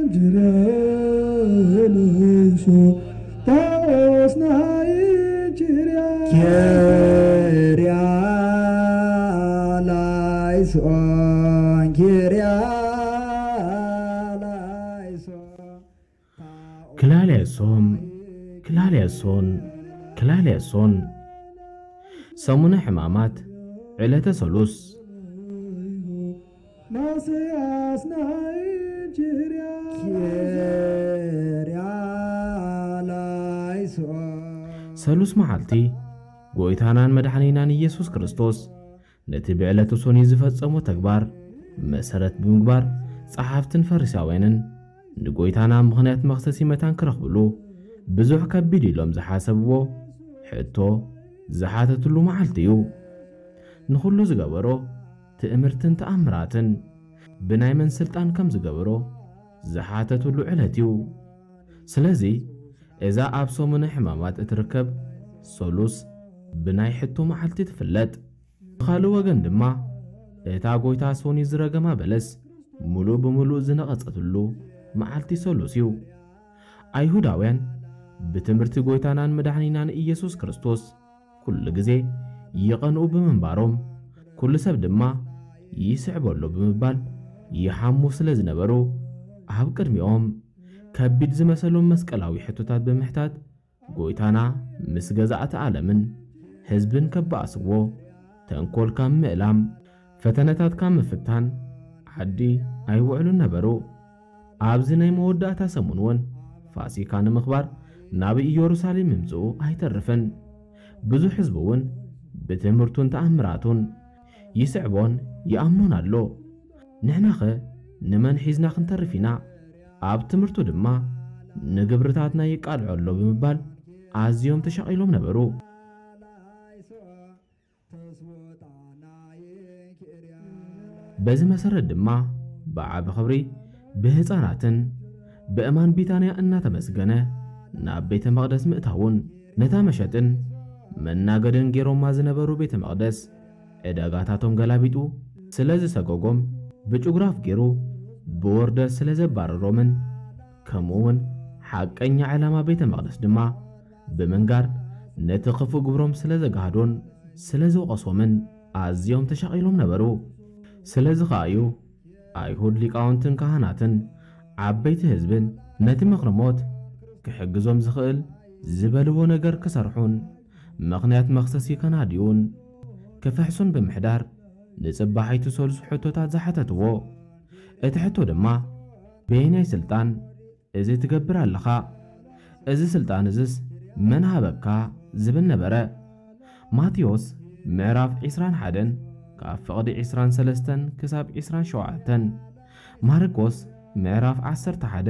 ኪርያ ላይሶን፣ ጣኦስ ናይ ኪርያ። ኪርያ ላይሶን፣ ኪርያ ላይሶን። ክላልያሶም፣ ክላልያሶን፣ ክላልያሶን። ሰሙነ ሕማማት፣ ዕለተ ሰሉስ። ማስያስ ናይ ኪርያ። ኪርያ ላይሶን። ሰሉስ መዓልቲ፣ ጎይታናን መድሓኒናን ኢየሱስ ክርስቶስ ነቲ ብዕለቱ ሶኒ ዝፈጸሞ ተግባር መሰረት ብምግባር፣ ጸሓፍትን ፈሪሳውያንን ንጎይታና ምኽንያት መኽሰሲ መታን ክረኽብሉ ብዙሕ ከቢድ ኢሎም ዝሓሰብዎ ሕቶ ዝሓተትሉ መዓልቲ እዩ። ንኹሉ ዝገበሮ ትእምርትን ተኣምራትን ብናይ መን ስልጣን ከም ዝገበሮ ዝሓተትሉ ዕለት እዩ። ስለዚ እዛ ኣብ ሰሙነ ሕማማት እትርከብ ሰሉስ ብናይ ሕቶ መዓልቲ ትፍለጥ። ብኻልእ ወገን ድማ እታ ጎይታ ሶኒ ዝረገማ በለስ ምሉእ ብምሉእ ዝነቐጸትሉ መዓልቲ ሰሉስ እዩ። ኣይሁዳውያን ብትምህርቲ ጎይታናን መድሓኒናን ኢየሱስ ክርስቶስ ኩሉ ግዜ ይቐንኡ ብምንባሮም፣ ኩሉ ሰብ ድማ ይስዕቦ ኣሎ ብምባል ይሓሙ ስለ ዝነበሩ፣ ኣብ ቅድሚኦም ከቢድ ዝመሰሎም መስቀላዊ ሕቶታት ብምሕታት፣ ጎይታና ምስ ገዛእቲ ዓለምን ህዝብን ከባእስዎ፣ ተንኮል ካብ ምእላም፣ ፈተነታት ካብ ምፍታን ዓዲ ኣይውዕሉን ነበሩ። ኣብዚ ናይ መወዳእታ ሰሙን እውን ፋሲካ ንምኽባር ናብ ኢየሩሳሌም ምምጽኡ ኣይተርፍን። ብዙሕ ህዝቢ እውን ብትምህርቱን ተኣምራቱን ይስዕቦን ይኣምኖን ኣሎ። ንሕናኸ ንመን ሒዝና ክንተርፍ ኢና? ኣብ ትምህርቱ ድማ ንግብርታትና ይቃልዖ ኣሎ ብምባል ኣዝዮም ተሻቒሎም ነበሩ። በዚ መሰረት ድማ ብዓቢ ክብሪ ብህፃናትን ብእማን ቢታንያ እናተመስገነ ናብ ቤተ መቕደስ ምእታውን ነታ መሸጥን መናገድን ገይሮማ ዝነበሩ ቤተ መቕደስ ዕዳጋታቶም ገላቢጡ ስለ ዝሰጎጎም ብጭጉራፍ ገይሩ ብውርደት ስለ ዘባረሮምን ከምኡ እውን ሓቀኛ ዕላማ ቤተ መቕደስ ድማ ብምንጋር ነቲ ክፉእ ግብሮም ስለ ዘጋህዶን ስለ ዝወቐሶምን ኣዝዮም ተሻቒሎም ነበሩ። ስለዚ ኸኣ እዩ ኣይሁድ ሊቃውንትን ካህናትን ዓበይቲ ህዝብን ነቲ ምኽሪ ሞት ክሕግዞም ዝኽእል ዝበልዎ ነገር ክሰርሑን ምኽንያት መኽሰሲ ከናድዩን ክፍሕሱን ብምሕዳር ንጽባሒቱ ሰሉስ ሕቶታት ዝሓተትዎ። እቲ ሕቶ ድማ በየናይ ስልጣን እዚ ትገብር ኣለኻ? እዚ ስልጣን እዝስ መን ሃበካ? ዝብል ነበረ። ማቴዎስ ምዕራፍ ዕስራን ሓደን ካብ ፍቕዲ ዕስራን ሰለስተን ክሳብ ዕስራን ሸውዓተን፣ ማርቆስ ምዕራፍ ዓሰርተ ሓደ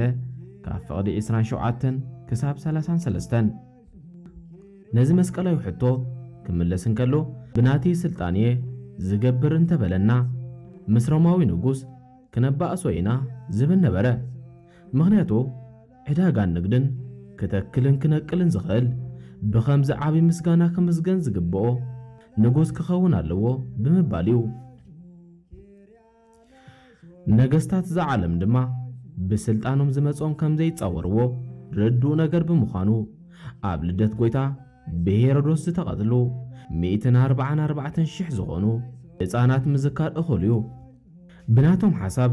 ካብ ፍቕዲ ዕስራን ሸውዓተን ክሳብ ሰላሳን ሰለስተን። ነዚ መስቀላዊ ሕቶ ክምለስ እንከሎ ብናተይ ስልጣን እየ ዝገብር እንተበለና ምስ ሮማዊ ንጉስ ክነባእሶ ኢና ዝብል ነበረ። ምኽንያቱ ዕዳጋን ንግድን ክተክልን ክነቅልን ዝኽእል ብኸምዚ ዓቢ ምስጋና ክምስገን ዝግብኦ ንጉስ ክኸውን ኣለዎ ብምባል እዩ። ነገስታት እዛ ዓለም ድማ ብስልጣኖም ዝመጾም ከም ዘይጻወርዎ ርዱእ ነገር ብምዃኑ ኣብ ልደት ጎይታ ብሄሮዶስ ዝተቐትሉ ሚእትን ኣርባዓን ኣርባዕተን ሽሕ ዝኾኑ ህፃናት ምዝካር እኹል እዩ። ብናቶም ሓሳብ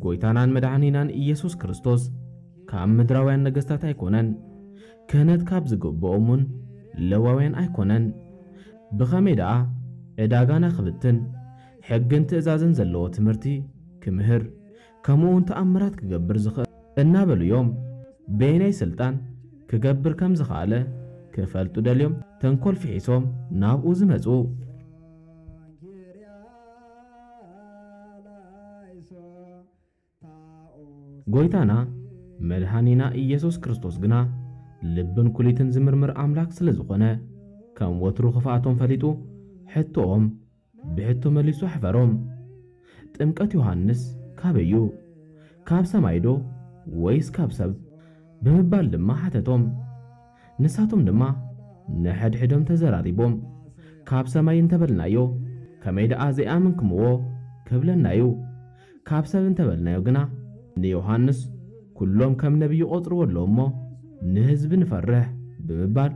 ጎይታናን መድሓኒናን ኢየሱስ ክርስቶስ ካብ ምድራውያን ነገስታት ኣይኮነን። ክህነት ካብ ዝግብኦም እውን ለዋውያን ኣይኮነን። ብኸመይ ደኣ ዕዳጋና ክብትን ሕግን ትእዛዝን ዘለዎ ትምህርቲ ክምህር ከምኡ እውን ተኣምራት ክገብር ዝኽእል እናበሉ እዮም በየናይ ስልጣን ክገብር ከም ዝኸኣለ ክፈልጡ ደልዮም ተንኮል ፍሒሶም ናብኡ ዝመጹ። ጎይታና መድሃኒና ኢየሱስ ክርስቶስ ግና ልብን ኩሊትን ዝምርምር ኣምላክ ስለ ዝኾነ ከም ወትሩ ክፍኣቶም ፈሊጡ ሕቶኦም ብሕቶ መሊሱ ኣሕፈሮም። ጥምቀት ዮሃንስ ካበይ እዩ? ካብ ሰማይ ዶ ወይስ ካብ ሰብ? ብምባል ድማ ሓተቶም። ንሳቶም ድማ ንሕድሕዶም ተዘራሪቦም፣ ካብ ሰማይ እንተበልናዮ ከመይ ደኣ ዘይኣመንክምዎ ክብለና እዩ፣ ካብ ሰብ እንተበልናዮ ግና ንዮሃንስ ኩሎም ከም ነቢይ ይቖጽርዎ ኣለዉ እሞ፣ ንህዝቢ ንፈርሕ ብምባል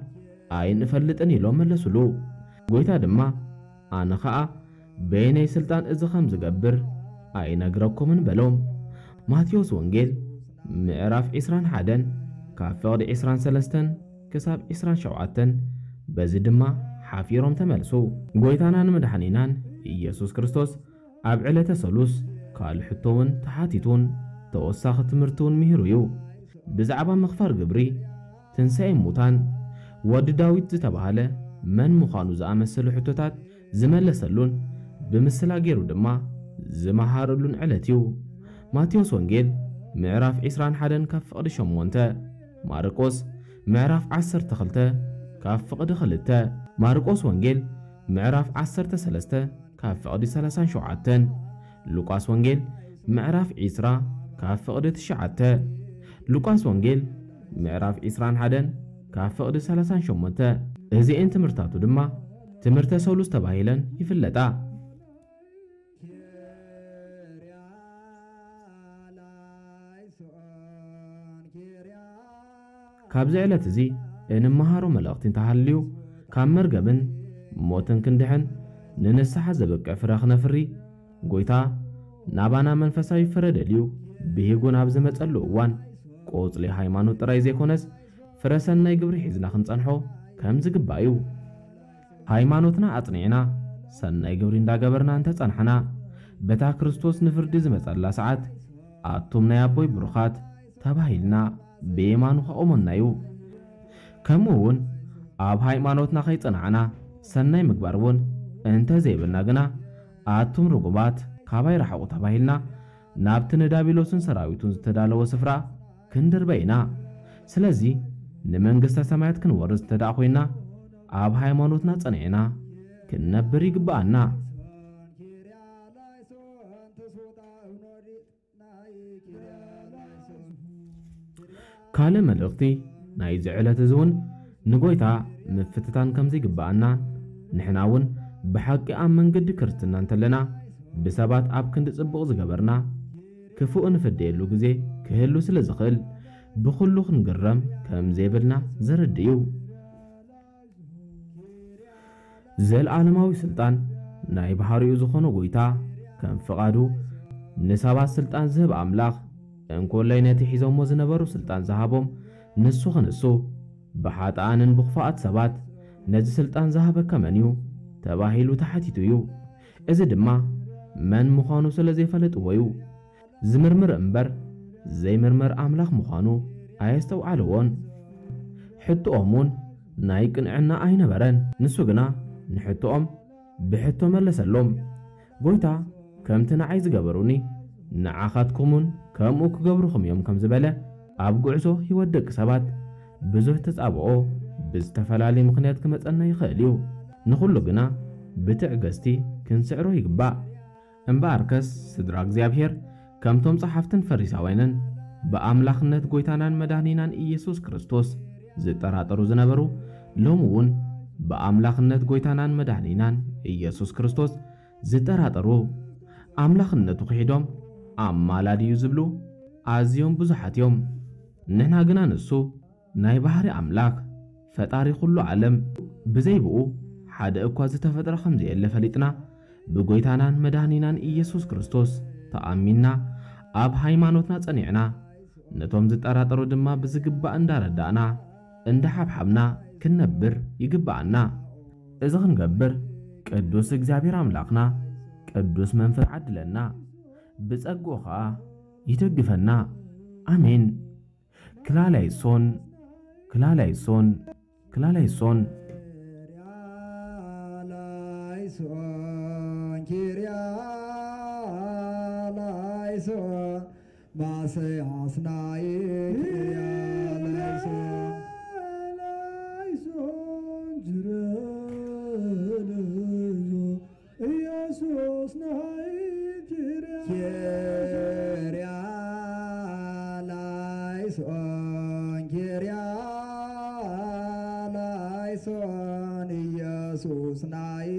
ኣይንፈልጥን ኢሎም መለሱሉ። ጎይታ ድማ፣ ኣነ ኸኣ በየነይ ስልጣን እዚ ከም ዝገብር ኣይነግረኩምን በሎም። ማቴዎስ ወንጌል ምዕራፍ ዕስራን ሓደን ካብ ፍቕዲ ዕስራን ሰለስተን ክሳብ ዕስራን ሸውዓተን፣ በዚ ድማ ሓፊሮም ተመልሱ። ጎይታናን መድሓኒናን ኢየሱስ ክርስቶስ ኣብ ዕለተ ሰሉስ ካልእ ሕቶ እውን ተሓቲቱን ተወሳኺ ትምህርቲ እውን ምሂሩ እዩ። ብዛዕባ ምኽፋል ግብሪ፣ ትንሳኤ ሙታን፣ ወዲ ዳዊት ዝተባህለ መን ምዃኑ ዝኣመሰሉ ሕቶታት ዝመለሰሉን ብምስላ ገይሩ ድማ ዝመሃረሉን ዕለት እዩ። ማቴዎስ ወንጌል ምዕራፍ ዕስራን ሓደን ካብ ፍቕዲ ሸሞንተ፣ ማርቆስ ምዕራፍ ዓሰርተ ክልተ ካብ ፍቕዲ ክልተ፣ ማርቆስ ወንጌል ምዕራፍ ዓሰርተ ሰለስተ ካብ ፍቕዲ ሰላሳን ሸውዓተን፣ ሉቃስ ወንጌል ምዕራፍ ዕስራ ካብ ፍቕዲ ትሽዓተ፣ ሉቃስ ወንጌል ምዕራፍ ዕስራን ሓደን ካብ ፍቕዲ ሰላሳን ሸሞንተ። እዚኤን ትምህርታቱ ድማ ትምህርተ ሰሉስ ተባሂለን ይፍለጣ። ካብዚ ዕለት እዚ እንመሃሮ መልእኽቲ እንተሃልዩ፣ ካብ መርገምን ሞትን ክንድሕን፣ ንንስሓ ዘብቅዕ ፍረ ክነፍሪ፣ ጎይታ ናባና መንፈሳዊ ፍረ ደልዩ ብሂጉ ናብ ዝመጸሉ እዋን፣ ቆጽሊ ሃይማኖት ጥራይ ዘይኮነስ፣ ፍረ ሰናይ ግብሪ ሒዝና ክንጸንሖ ከም ዝግባእ እዩ። ሃይማኖትና ኣጽኒዕና፣ ሰናይ ግብሪ እንዳገበርና እንተጸናሕና፣ በታ ክርስቶስ ንፍርዲ ዝመጸላ ሰዓት፣ ኣቱም ናይ ኣቦይ ብሩኻት ተባሂልና ብየማኑ ከቑመና እዩ። ከምኡ እውን ኣብ ሃይማኖትና ከይጸናዕና፣ ሰናይ ምግባር እውን እንተ ዘይብልና ግና፣ ኣቱም ርጉማት ካባይ ርሓቑ ተባሂልና ናብቲ ንዳቢሎስን ሰራዊቱን ዝተዳለወ ስፍራ ክንድርበ ኢና። ስለዚ ንመንግስተ ሰማያት ክንወርስ እንተ ደኣ ኮይና፣ ኣብ ሃይማኖትና ጸኒዕና ክንነብር ይግብኣና። ካልእ መልእኽቲ ናይዚ ዕለት እዚ እውን ንጎይታ ምፍትታን ከም ዘይግብኣና፣ ንሕና እውን ብሓቂ ኣብ መንገዲ ክርስትና እንተለና፣ ብሰባት ኣብ ክንዲ ጽቡቕ ዝገበርና፣ ክፉእ እንፍደየሉ ግዜ ክህሉ ስለ ዝኽእል፣ ብኹሉ ክንግረም ከም ዘይብልና ዘረድእ እዩ። ዘልኣለማዊ ስልጣን ናይ ባህሪኡ ዝኾነ ጎይታ፣ ከም ፍቓዱ ንሰባት ስልጣን ዝህብ ኣምላኽ፣ እንኮላይ ነቲ ሒዞሞ ዝነበሩ ስልጣን ዝሃቦም ንሱ ክንሱ፣ ብሓጥኣንን ብኽፉኣት ሰባት ነዚ ስልጣን ዝሃበካ መን እዩ? ተባሂሉ ተሓቲቱ እዩ። እዚ ድማ መን ምዃኑ ስለ ዘይፈለጥዎ እዩ። ዝምርምር እምበር ዘይምርምር ኣምላኽ ምዃኑ ኣየስተውዓልዎን። ሕቶኦም እውን ናይ ቅንዕና ኣይነበረን። ንሱ ግና ንሕቶኦም ብሕቶ መለሰሎም። ጎይታ፣ ከምቲ ንዓይ ዝገበሩኒ ንዓኻትኩም እውን ከምኡ ክገብሩኹም እዮም ከም ዝበለ፣ ኣብ ጉዕዞ ህይወት ደቂ ሰባት ብዙሕ ተጻብኦ ብዝተፈላለየ ምኽንያት ክመጸና ይኽእል እዩ። ንኹሉ ግና ብትዕግስቲ ክንስዕሮ ይግባእ። እምበኣርከስ ስድራ እግዚኣብሔር፣ ከምቶም ጸሓፍትን ፈሪሳውያንን ብኣምላኽነት ጎይታናን መድኃኒናን ኢየሱስ ክርስቶስ ዝጠራጠሩ ዝነበሩ፣ ሎሚ እውን ብኣምላኽነት ጎይታናን መድኃኒናን ኢየሱስ ክርስቶስ ዝጠራጠሩ፣ ኣምላኽነቱ ክሒዶም ኣማላዲ እዩ ዝብሉ ኣዝዮም ብዙሓት እዮም። ንሕና ግና ንሱ ናይ ባህሪ ኣምላኽ፣ ፈጣሪ ኩሉ ዓለም፣ ብዘይ ብኡ ሓደ እኳ ዝተፈጥረ ከም ዘየለ ፈሊጥና፣ ብጎይታናን መድኃኒናን ኢየሱስ ክርስቶስ ተኣሚንና፣ ኣብ ሃይማኖትና ጸኒዕና፣ ነቶም ዝጠራጠሩ ድማ ብዝግባእ እንዳረዳእና፣ እንዳሓብሓብና ክንነብር ይግብኣና። እዚ ክንገብር ቅዱስ እግዚኣብሔር ኣምላኽና ቅዱስ መንፈስ ዓድለና፣ ብጸግኡ ኸኣ ይደግፈና። ኣሜን። ክላላይሶን፣ ክላላይሶን፣ ክላላይሶን። ላይሶን፣ ኪርያ ላይሶን፣ ማሰይ ኣስናይ ኪርያ ላይሶን። ላይሶን፣ ጅረ ላይሶን፣ ኢየሱስ ናይ ኪርያ ኪርያ ላይሶን፣ ኪርያ ላይሶን፣ ኢየሱስ ናይ